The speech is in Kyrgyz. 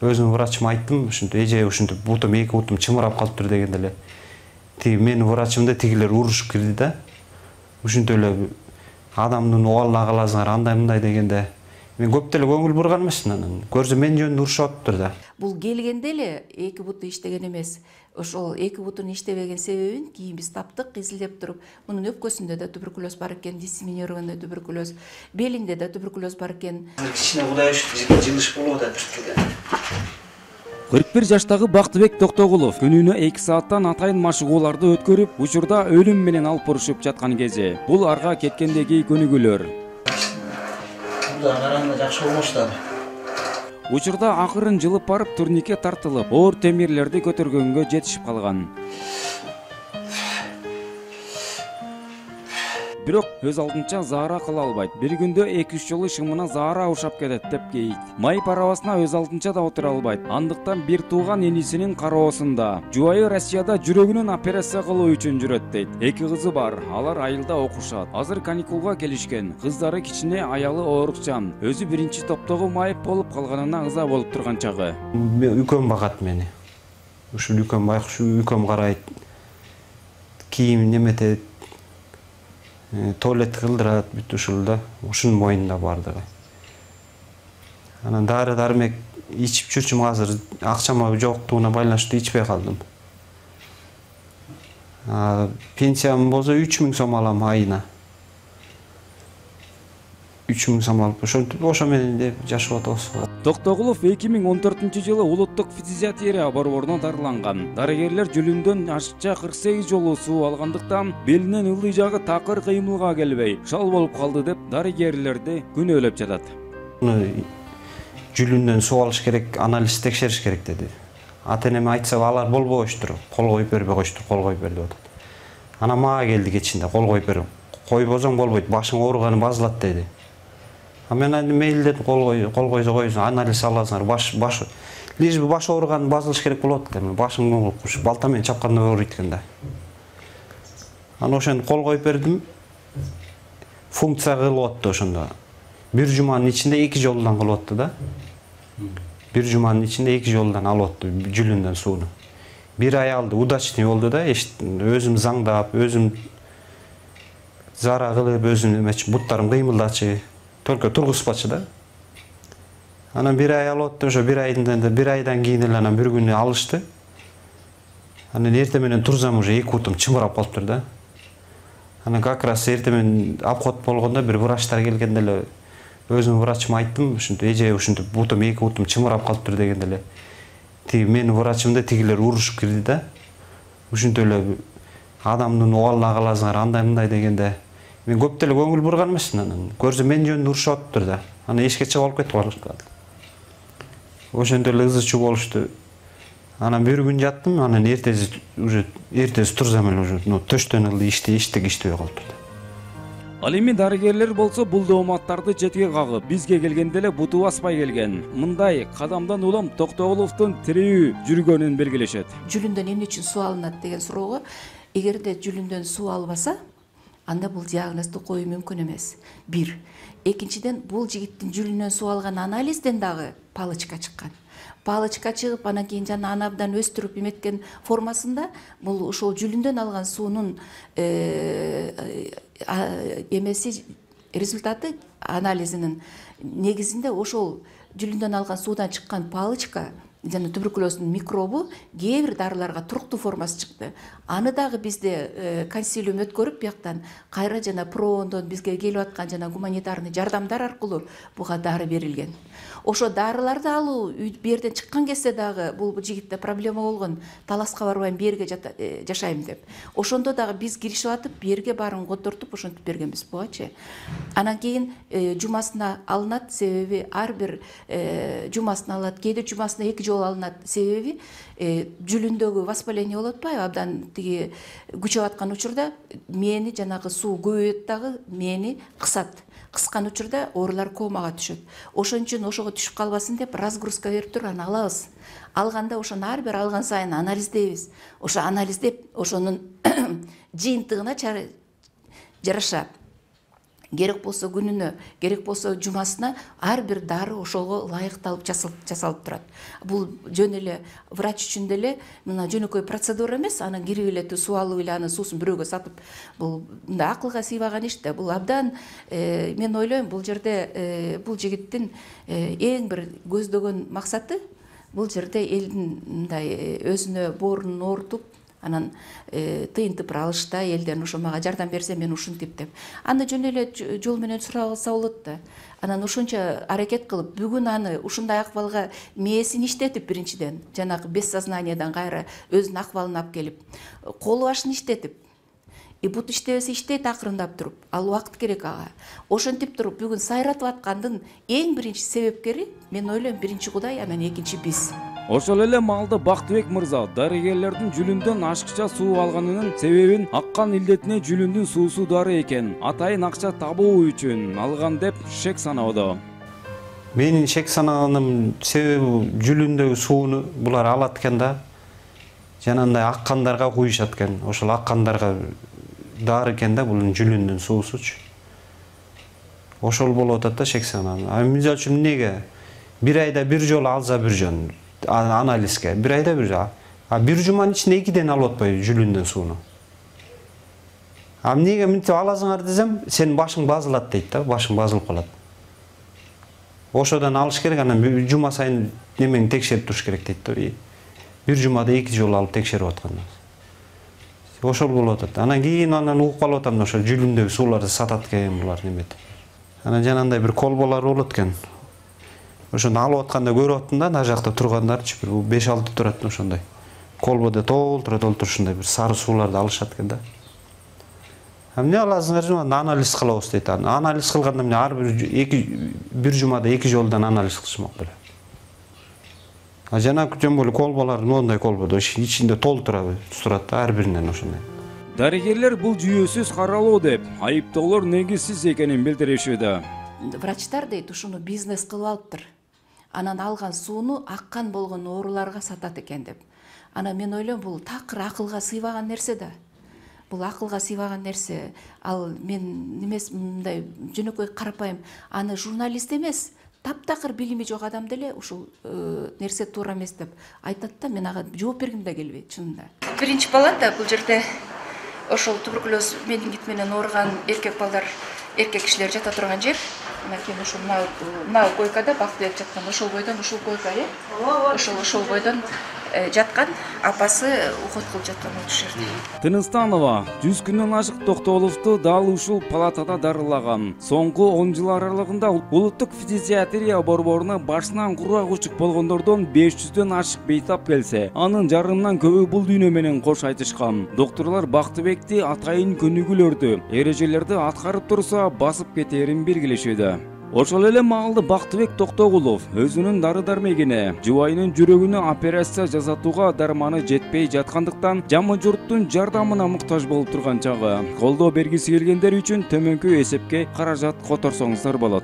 өзүм врачыма айттым, ушинтип эже ушинтип бутум, эки бутум чымырап калыптыр дегенде эле тиги менин врачымды тигилер урушуп кирди да. Ушинтип эле адамдын убалына каласыңар андай мындай дегенде мен көп деле көңүл бурган эмесмин, анан көрсө мен жөнүндө урушуп атыптыр да. Бул келгенде эле эки буту иштеген эмес. Ошол эки бутун иштебеген себебин кийин биз таптык, изилдеп туруп, мунун өпкөсүндө да туберкулез бар экен, диссеминированный туберкулез, белинде да туберкулез бар экен. Кичине Кудай ушинтип жылыш болуп атат. 41 жаштагы Бактыбек Токтогулов күнүнө 2 сааттан атайын машыгууларды өткөрүп, учурда өлүм менен алпурушуп жаткан кези. Бул арга кеткендеги көнүгүүлөр. Буда караганда жакшы болмоштады. Учурда акырын жылып барып турникке тартылып, оор темирлерди көтөргөнгө жетишип калган. Бирок өз алдынча заара кыла албайт. Бир күндө 2-3 жолу шымына заара ушап кетет деп кейит. Майып арабасына өз алдынча да отура албайт. Андыктан бир тууган энисинин кароосунда. Жубайы Россияда жүрөгүнөн операция кылуу үчүн жүрөт дейт. 2 кызы бар. Алар айылда окушат. Азыр каникулга келишкен. Кыздары кичине, аялы оорукчан. Өзү биринчи топтогу майып болуп калганына ыза болуп турган чагы. Үкөм багат мени. Ушул үкөм байкуш үкөм карайт. Кийим неметет. Туалет кылдырат, бүт ушул да, ушунун моюнунда бардыгы. Анан дары дармек ичип жүрчүм, азыр акчам жоктугуна байланыштуу ичпей калдым. Пенсиям болсо 3000 сом алам айына. 3000 сом алып, ошо менен деп жашап атабыз. Токтогулов 2014-жылы улуттук физиотерапия борборуна дарыланган. Дарыгерлер жүлүндөн ашыкча 48 жолу суу алгандыктан белинен ылдый жагы такыр кыймылга келбей, шал болуп калды деп дарыгерлерди күнөөлөп жатат. Жүлүндөн суу алыш керек, анализ текшериш керек деди. Ата-энеме айтса алар болбоштур, кол коюп бербей койчуштур, кол коюп бер деп атат. Анан мага келди кечинде, кол коюп бер. Койбосоң болбойт, башың ооруганы базылат деди. Мен мейли дедим, кол койсо койсун, анализ аласыңар, баш лишь бы баш ооруганы базылыш керек болот эле. Башым балта менен чапканда ооруйт экен да. Анан ошону кол коюп бердим. Функция кылып атты ошондо. Бир жуманын ичинде 2 жолдан кылып атты да. Бир жуманын ичинде 2 жолдан алып атты жүлүндөн сууну. Бир ай алды, удачный болду да, өзүм заңдап, өзүм зара кылып, өзүм эмечи буттарым кыймылдачы. Только тургузбачы да. Анан бир ай алып атты, ошо бир айдан кийин эле анан бир күнү алышты. Анан эртең менен турсам уже 2 бутум чымырап калыптыр да. Анан как раз эртең менен обход болгондо бир врачтар келгенде эле өзүм врачыма айттым, ушинтип эже ушинтип бутум, 2 бутум чымырап калыптыр дегенде эле тиги менин врачымды тигилер урушуп кирди да. Ушинтип эле адамдын убалына каласыңар андай мындай дегенде мен көп деле көңүл бурган эмесмин, анан көрсө мен жөнүндө урушуп атыптыр да. Анан эшикке чыгып алып кетип калышты. Ошондой эле ызы чуу болушту. Анан бир күн жаттым, анан эртеси турсам эле уже төштөн ылдый иштек иштебей калыптыр. Ал эми дарыгерлер болсо бул дооматтарды четке кагып, бизге келгенде эле буту баспай келген. Мындай кадамдан улам Токтогуловдун тирүү жүргөнүн белгилешет. Жүлүндөн эмне үчүн суу алынат деген суроого, эгерде жүлүндөн суу албаса, анда бул диагнозду коюу мүмкүн эмес. Бир. Экинчиден, бул жигиттин жүлүнөн суу алган анализден дагы палычка чыккан. Палычка чыгып, анан кийин жана аны абдан өстүрүп эметкен формасында бул ошол жүлүндөн алган суунун эмеси результаты анализинин негизинде ошол жүлүндөн алган суудан чыккан палычка жана туберкулездун микробу кээ бир дарыларга туруктуу формасы чыкты. Аны дагы бизде консилиум өткөрүп бияктан кайра жана ПРООндон бизге келип аткан жана гуманитарный жардамдар аркылуу буга дары берилген. Ошо дарыларды алуу берден чыккан кезде дагы бул жигитте проблема болгон. Таласка барбайм, берге жашайм деп. Ошондо дагы биз киришип атып, берге баарын котортуп ошентип бергенбиз бугачы. Анан кийин жумасына алынат, себеби ар бир жумасына алат, кээде жумасына 2 жолу алынат, себеби жүлүндөгү воспаление болуп атпайбы, абдан тиги күчөп аткан учурда мээни жанагы суу көбөйөт дагы мээни кысат. Кыскан учурда оорулар комага түшөт. Ошон үчүн ошого түшүп калбасын деп разгрузка берип туруп аны алабыз. Алганда ошону ар бир алган сайын анализдейбиз. Ошо анализдеп ошонун жыйынтыгына жараша керек болсо күнүнө, керек болсо жумасына ар бир дары ошого ылайыкталып жасалып турат. Бул жөн эле врач үчүн деле мына жөнөкөй процедура эмес, анан кирип эле суу алып эле анын суусун бирөөгө сатып, бул мындай акылга сыйбаган иш да. Бул абдан мен ойлойм, бул жерде бул жигиттин эң бир көздөгөн максаты бул жерде элдин мындай өзүнө боорунун оорутуп, анан тыйынтып алышта элден ошо мага жардам берсе мен ушинтип деп. Аны жөн эле жол менен сурап алса болот да. Анан ошончо аракет кылып, бүгүн аны ушундай акыбалга мээсин иштетип, биринчиден жанагы бессознаниядан кайра өзүнүн акыбалын алып келип, колу башын иштетип, бут иштебесе иштейт акырындап туруп, ал убакыт керек ага. Ошентип туруп бүгүн сайратып аткандын эң биринчи себепкери мен ойлойм биринчи Кудай, анан экинчи биз. Ошол эле маалда Бактыбек мырза дарыгерлердин жүлүндөн ашыкча суу алганынын себебин аккан илдетине жүлүндүн суусу дары экен, атайын акча табуу үчүн алган деп шек саноодо. Менин шек санаганым себеби жүлүндөгү сууну булар алат экен да, жанагындай аккандарга куюшат экен. Ошол аккандарга дары экен да, бул жүлүндүн суусучу. Ошол болуп атат да шек санаганым. Мисалы үчүн эмнеге бир айда бир жолу алса бир жөн анализге, бир айда бир жолу. Бир жуманын ичинде 2ден алып атпайбы жүлүндүн сууну. Эмнеге мынтип аласыңар десем, сенин башың базылат дейт да, башың базылып калат. Ошодон алыш керек, анан жума сайын немени текшерип туруш керек дейт да. Бир жумада 2 жолу алып текшерип атканда. Ошол болуп атат. Анан кийин угуп калып атам, ошо жүлүндөгү сууларды сатат экен булар неметип. Анан жанагындай бир колболор болот экен. Ошону алып атканда көрүп аттым да, ана жакта тургандарчы бир 5-6 турат ошондой. Колбодо толтура ушундай бир сары сууларды алышат экен да. Эмне аласыңар? Анализ кылабыз дейт. Анализ кылганда эмне ар бир жумада 2 жолдон анализ кылышмак беле. Жанагы жөн боло колболор моундай колбодо ичинде толтура турат да, ар биринен ошондой. Дарыгерлер бул жүйөсүз каралуу деп айыптоолор негизсиз экенин билдиришүүдө. Врачтар дейт, ушуну бизнес кылып алыптыр. Анан алган сууну аккан болгон ооруларга сатат экен деп. Анан мен ойлойм, бул такыр акылга сыйбаган нерсе да. Бул акылга сыйбаган нерсе. Ал мен эмес, мындай жөнөкөй карапайым, аны журналист эмес, таптакыр билими жок адам деле ушул нерсе туура эмес деп айтат да, мен ага жооп бергим да келбейт чынында. Биринчи палата бул жерде ошол туберкулез менингит менен ооруган эркек балдар, эркек кишилер жата турган жер. Анакей ошол мына койкада Бактыбек жаткан, ошол бойдон ушул койка, ошол бойдон жаткан, апасы уход кылып жаткан ушул жерде. Тыныстанова 100 күндөн ашык Токтооловду дал ушул палатада дарылаган. Соңку 10 жыл аралыгында улуттук фтизиатрия борборуна башынан курак учук болгондордон 500дөн ашык бейтап келсе, анын жарымынан көбү бул дүйнө менен кош айтышкан. Докторлор Бактыбекти атайын көнүгүүлөрдү, эрежелерди аткарып турса басып кетерин белгилешүүдө. Ошол эле маалда Бактыбек Токтогулов өзүнүн дары дармегине жубайынын жүрөгүнө операция жасатууга дарманы жетпей жаткандыктан жамы журттун жардамына муктаж болуп турган чагы колдоо бергиси келгендер үчүн төмөнкү эсепке каражат которсоңуздар болот.